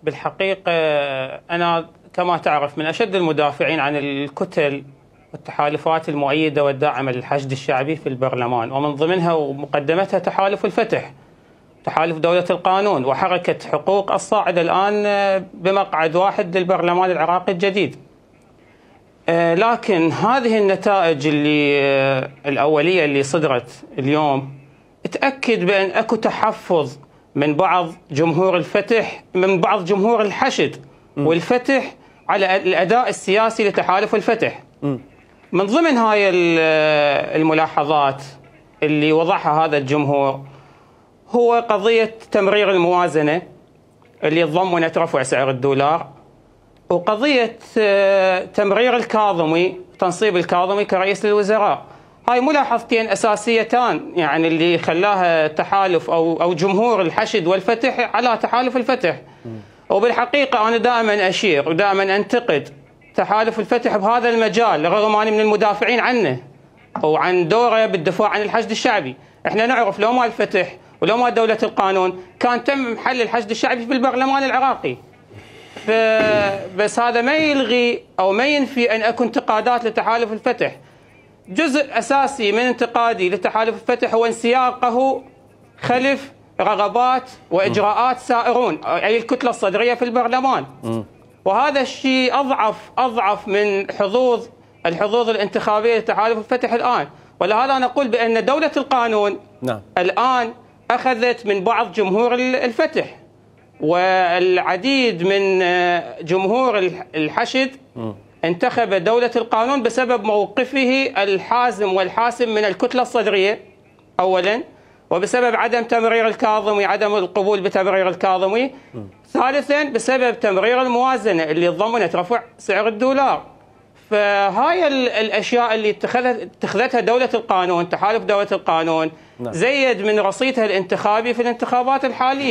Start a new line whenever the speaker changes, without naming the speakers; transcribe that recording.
بالحقيقة أنا كما تعرف من أشد المدافعين عن الكتل والتحالفات المؤيدة والداعمة للحشد الشعبي في البرلمان، ومن ضمنها ومقدمتها تحالف الفتح، تحالف دولة القانون، وحركة حقوق الصاعدة الآن بمقعد واحد للبرلمان العراقي الجديد. لكن هذه النتائج الأولية اللي صدرت اليوم تأكد بأن أكو تحفظ من بعض جمهور الفتح، من بعض جمهور الحشد والفتح على الأداء السياسي لتحالف الفتح. من ضمن هاي الملاحظات اللي وضعها هذا الجمهور هو قضية تمرير الموازنة اللي تضمنت رفع سعر الدولار، وقضية تمرير الكاظمي، تنصيب الكاظمي كرئيس للوزراء. هاي ملاحظتين أساسيتان يعني اللي خلاها تحالف أو جمهور الحشد والفتح على تحالف الفتح. وبالحقيقة أنا دائما أشير ودائما أنتقد تحالف الفتح بهذا المجال، رغم أني من المدافعين عنه وعن دوره بالدفاع عن الحشد الشعبي. احنا نعرف لو ما الفتح ولو ما دولة القانون كان تم حل الحشد الشعبي في البرلمان العراقي. بس هذا ما يلغي أو ما ينفي أن أكو انتقادات لتحالف الفتح. جزء أساسي من انتقادي لتحالف الفتح هو انسياقه خلف رغبات وإجراءات سائرون، أي الكتلة الصدرية في البرلمان. وهذا الشيء أضعف من الحظوظ الانتخابية لتحالف الفتح الآن. ولهذا نقول بأن دولة القانون الآن أخذت من بعض جمهور الفتح، والعديد من جمهور الحشد انتخب دولة القانون بسبب موقفه الحازم والحاسم من الكتلة الصدرية أولا، وبسبب عدم تمرير الكاظمي، عدم القبول بتمرير الكاظمي، ثالثا بسبب تمرير الموازنة اللي ضمنت رفع سعر الدولار. فهاي الأشياء اللي اتخذتها دولة القانون، تحالف دولة القانون، زيد من رصيدها الانتخابي في الانتخابات الحالية.